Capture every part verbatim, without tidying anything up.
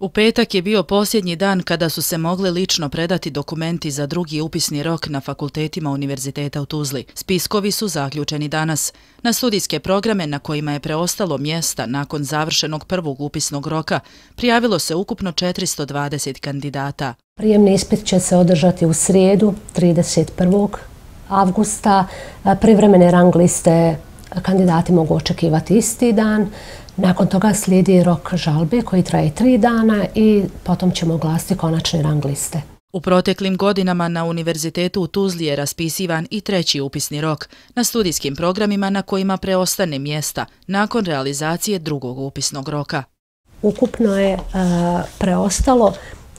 U petak je bio posljednji dan kada su se mogli lično predati dokumenti za drugi upisni rok na fakultetima Univerziteta u Tuzli. Spiskovi su zaključeni danas. Na studijske programe na kojima je preostalo mjesta nakon završenog prvog upisnog roka prijavilo se ukupno četiristo dvadeset kandidata. Prijemni ispit će se održati u srijedu, trideset prvog avgusta. Privremene rang liste kandidati mogu očekivati isti dan. Nakon toga slijedi rok žalbe koji traje tri dana i potom ćemo oglasiti konačne rang liste. U proteklim godinama na Univerzitetu u Tuzli je raspisivan i treći upisni rok na studijskim programima na kojima preostane mjesta nakon realizacije drugog upisnog roka. Ukupno je uh, preostalo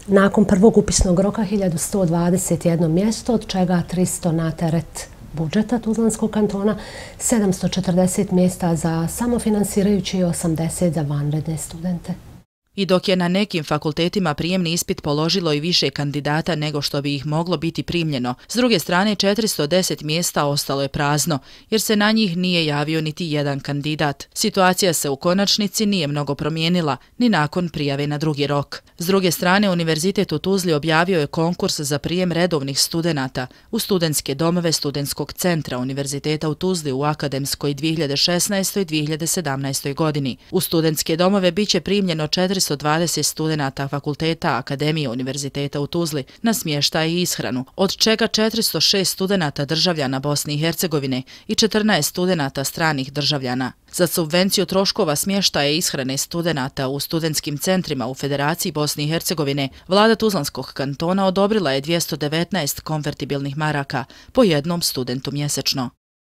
nakon prvog upisnog roka hiljadu sto dvadeset jedno mjesto, od čega tristo na teret budžeta Tuzlanskog kantona, sedamsto četrdeset mjesta za samofinansirajuće i osamdeset za vanredne studente. I dok je na nekim fakultetima prijemni ispit položilo i više kandidata nego što bi ih moglo biti primljeno, s druge strane četiristo deset mjesta ostalo je prazno, jer se na njih nije javio niti jedan kandidat. Situacija se u konačnici nije mnogo promijenila, ni nakon prijave na drugi rok. S druge strane, Univerzitet u Tuzli objavio je konkurs za prijem redovnih studenata u studentske domove Studentskog centra Univerziteta u Tuzli u akademskoj dvije hiljade šesnaestoj dvije hiljade sedamnaestoj godini. U studentske domove biće primljeno četiristo dvadeset studenata fakulteta Akademije Univerziteta u Tuzli na smještaj i ishranu, od čega četiristo šest studenata državljana Bosne i Hercegovine i četrnaest studenata stranih državljana. Za subvenciju troškova smještaja i ishrane studenata u studentskim centrima u Federaciji Bosne i Hercegovine, vlada Tuzlanskog kantona odobrila je dvjesto devetnaest konvertibilnih maraka po jednom studentu mjesečno.